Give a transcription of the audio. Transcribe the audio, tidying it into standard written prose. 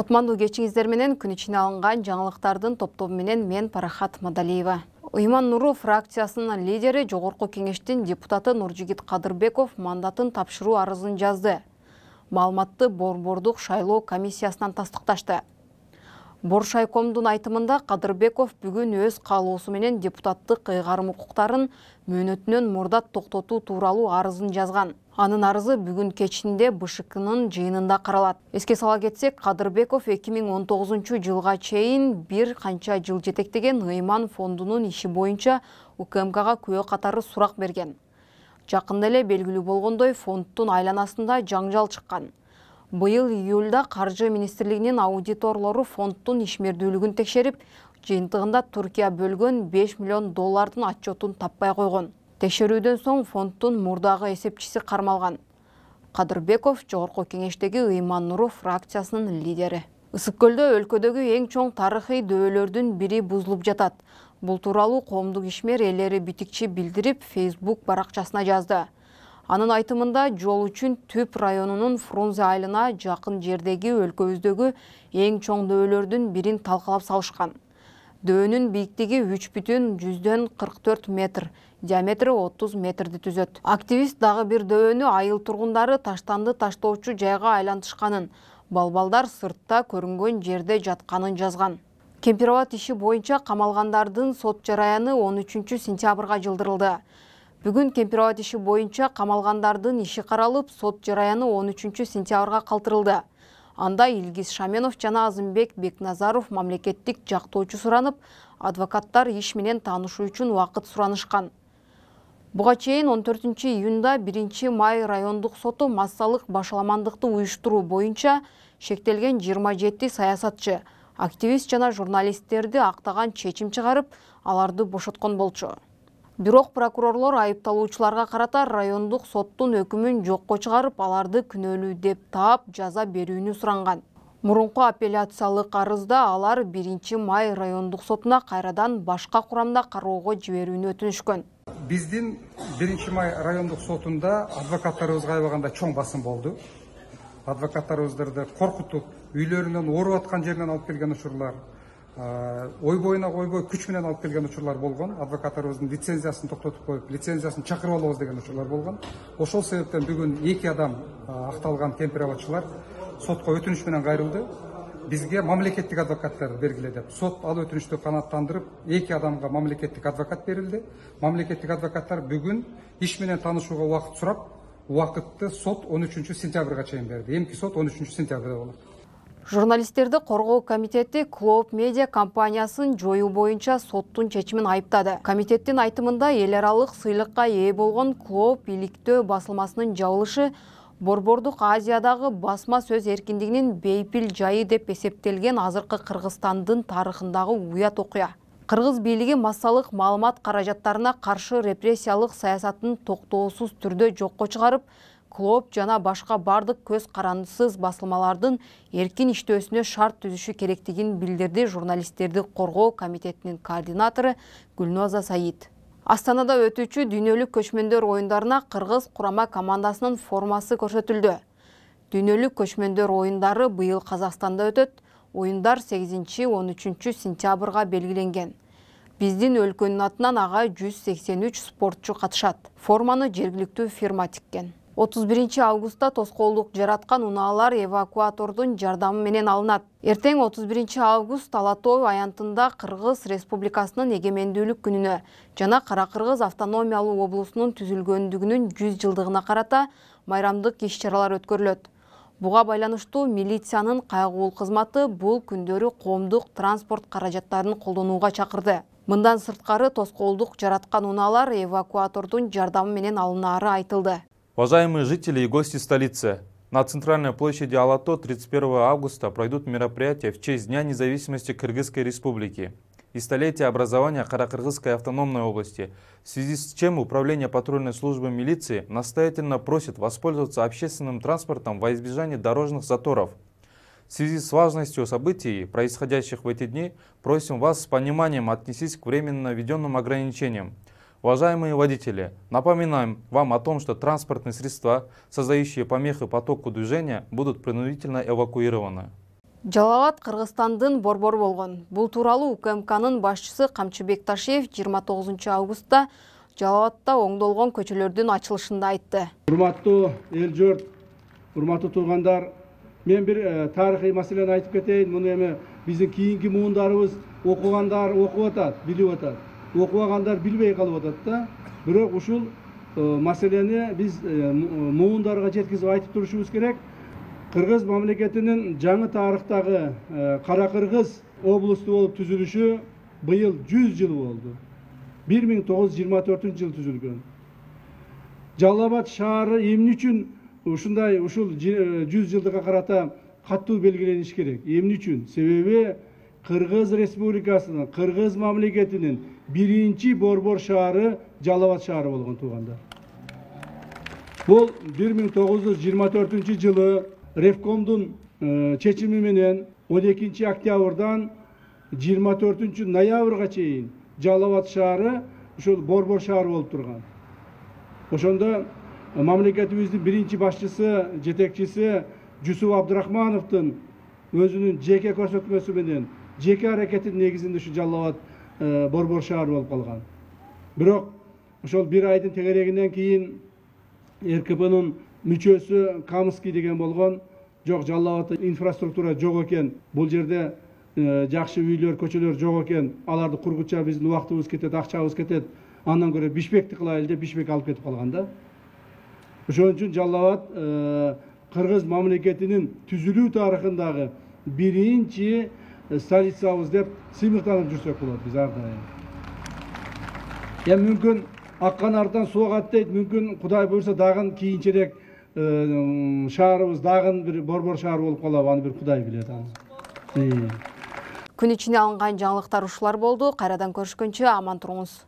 Кутмандуу кечиңиздер менен күн ичине алынган жаңылыктардын топтобу менен мен Парахат Мадалиева. Ыйман Нуру фракциясынын лидери Жогорку кеңештин депутаты Нуржигит Кадырбеков мандатын тапшыруу арызын жазды. Маалыматты Борбордук шайлоо комиссиясынан тастыкташты. Боршайкомдун айтымында Кадырбеков бүгүн өз каалоосу менен депутаттык ыйгарым укуктарын мөөнөтүнөн мурдат токтотуу тууралуу арызын жазган. Анын арызы бүгүн кечинде БШКнын жыйынында каралат. Эске сала кетсек, Кадырбеков 2019 жылга чейин бир канча жыл жетектеген Ыйман фондунун иши боюнча УКМКга күбө катары сурак берген. Жакында эле белгилүү болгондой, фонддун айланасында жаңжал чыккан. Быйыл июлда Каржы министрлигинин аудиторлору фонддун ишмердүүлүгүн текшерип, жыйынтыгында Туркия бөлгөн $5 миллион отчетун таппай койгон. Текшерүүдөн соң фонддун мурдагы эсепчиси кармалган. Кадырбеков Жогорку кеңештеги Ыйман Нуру фракциясынын лидери. Ысык көлдө өлкөдөгү эң чоң тарыхый дөөлөрдүн бири бузулуп жатат. Бул тууралуу коомдук ишмер ээлери битикчи билдирип, Facebook баракчасына жазды. Анын айтымында жол үчүн Түп районунун Фрунзе айылына жакын жердеги өлкөбүздөгү эң чоң дөөлөрдүн бирин талкалап салышкан. Дөөнүн бийиктиги 3,44 метр, диаметри 30 метрди түзөт. Активист дагы бир дөөнү айыл тургундары таштанды таштоочу жайга айлантышканын, балбалдар сыртта көрүнгөн жерде жатканын жазган. Кемпирабад иши боюнча камалгандардын сот жараяны 13 сентябрга жылдырылды. Бүгүн Кемпирабад иши боюнча камалгандардын иши каралып, сот жараяны 13 сентябрга калтырылды. Анда Илгиз Шаменов жана Азымбек Бекназаров мамлекеттик жактоочу суранып, адвокаттар иш менен таанышуу үчүн убакыт суранышкан. Буга чейин 14 июнда 1 май райондук соту массалык башаламандыкты уюштуруу боюнча шектелген 27 саясатчы, активист жана журналисттерди актаган чечим чыгарып, аларды бошоткон болчу. Бирок прокурорлор айыпталуучуларга карата райондук соттун өкүмүн жокко чыгарып, аларды күнөөлүү деп таап, жаза берүүнү суранган. Мурунку апелляциялык арызда алар 1 май райондук сотуна кайрадан башка курамда кароого жиберүүнү өтүнүшкөн. Биздин 1 май райондук сотунда адвокаттарыбызга аябаганда чоң басым болду. Адвокаттарыбыздарды коркутуп, үйлөрүнөн ооруп аткан жеринен алып келген учурлар, ойбойуна койбой күч менен алып келген учурлар болгон. Адвокаттарыбыздын лицензиясын токтотуп коюп, лицензиясын чакырып алабыз деген учурлар болгон. Ошол себептен бүгүн 2 адам акталган кемпирабадчылар сотко өтүнүш менен кайрылды. Бизге мамлекеттик адвокаттар бергиле деп. Сот ал өтүнүштү канааттандырып, 2 адамга мамлекеттик адвокат берилди. Мамлекеттик адвокаттар бүгүн иш менен таанышууга убакыт сурап, убакытты сот 13 сентябрга чейин берди. Эмки сот 13 сентябрда болот. Журналисттерди коргоо комитети Клоп медиа компаниясын жоюу боюнча соттун чечимин айыптады. Комитеттин айтымында эл аралык сыйлыкка ээ болгон Клоп иликтөө басылмасынын жабылышы Борбордук Азиядагы басма сөз эркиндигинин бейпил жайы деп эсептелген азыркы Кыргызстандын тарыхындагы уят окуя. Кыргыз бийлиги массалык маалымат каражаттарына каршы репрессиялык саясатын токтоосуз түрдө жокко чыгарып, Клоп жана башка бардык көз карандысыз басылмалардын эркин иштөөсүнө шарт түзүшү керектигин билдирди журналисттерди коргоо комитетинин координатору Гүлноза Саид. Астанада өтүүчү дүйнөлүк көчмөндөр оюндарына Кыргыз курама командасынын формасы көрсөтүлдү. Дүйнөлүк көчмөндөр оюндары быйыл Казакстанда өтөт. Оюндар 8-13 сентябрга белгиленген. Биздин өлкөнүн атынан ага 183 спортчу катышат. Форманы жергиликтүү фирма тиккен. 31 августта тоскоолдук жараткан унаалар эвакуатордун жардамы менен алынат. Эртең 31 август Ала Тоо аянтында Кыргыз Республикасынын эгемендүүлүк күнүнө жана Кара Кыргыз автономиялуу облусунун түзүлгөндүгүнүн 100 жылдыгына карата майрамдык иш-чаралар өткөрүлөт. Буга байланыштуу милициянын кайгуул кызматы бул күндөрү коомдук транспорт каражаттарын колдонууга чакырды. Мындан сырткары тоскоолдук жараткан унаалар эвакуатордун жардамы менен алынаары айтылды. Уважаемые жители и гости столицы, на центральной площади Ала-Тоо 31 августа пройдут мероприятия в честь Дня независимости Кыргызской Республики и столетия образования Каракыргызской автономной области, в связи с чем Управление патрульной службы милиции настоятельно просит воспользоваться общественным транспортом во избежание дорожных заторов. В связи с важностью событий, происходящих в эти дни, просим вас с пониманием отнестись к временно введенным ограничениям. Уважаемые водители, напоминаем вам о том, что транспортные средства, создающие помехи потоку движения, будут принудительно эвакуированы. Жалал Абад Кыргызстандын борбору болгон. Бул тууралуу УКМКнын башчысы Камчы Бекташиев 29 августта Жалал Абадта оңдолгон көчөлөрдүн ачылышында айтты. Урматтуу эл журт, урматтуу туугандар, мен бир тарыхый маселени айтып кетейин. Муну эми биздин кийинки муундарыбыз окугандар окуп атат, билип атат. Окубагандар билбей калып атат да. Бирок ушул маселени биз муундарга жеткизип айтып турушубуз керек. Кыргыз мамлекетинин жаңы тарыхтагы Кара Кыргыз облусту болуп түзүлүшү быйыл 100 жыл болду. 1924 жыл түзүлгөн. Жалал Абад шаары эмне үчүн ушул 100 жылдыкка карата катуу белгилениш керек? Эмне үчүн? Себеби Кыргыз Республикасынын, Кыргыз мамлекетинин биринчи борбор шаары Жалал Абад шаары болгон туугандар. Бул 1924 жылы Ревкомдун чечими менен 12 октябрдан 24 ноябрга чейин Жалал Абад шаары ушул борбор шаар болуп турган. Ошондо мамлекетибиздин биринчи башчысы, жетекчиси Жусуп Абдырахмановдун өзүнүн жеке көрсөтмөсү менен, жеке аракетинин негизинде ушу Жалал Абад борбор шаар болуп калган. Бирок ошол бир айдын тегерегинен кийин РКПнын мүчөсү Камский деген болгон, жок, Жалал Абадта инфраструктура жок экен, бул жерде жакшы үйлөр, көчөлөр жок экен, аларды кургуча биздин убактыбыз кетет, акчабыз кетет, андан көрө Бишкекти кылайлы деп Бишкек алып кетип калган да. Ошон үчүн Жалал Абад Кыргыз мамлекетинин түзүлүү тарыхындагы биринчи столицабыз деп сыймыктанып жүрсөк болот биз ар дайым. Эми мүмкүн акканардан суу агат дейт, мүмкүн Кудай буйрса дагы кийинчерээк шаарыбыз дагы бир борбор шаар болуп калабы, аны бир Кудай билет аны. Күн ичине алынган жаңылыктар ушулар болду. Кайрадан көрүшкөнчө аман туруңуз.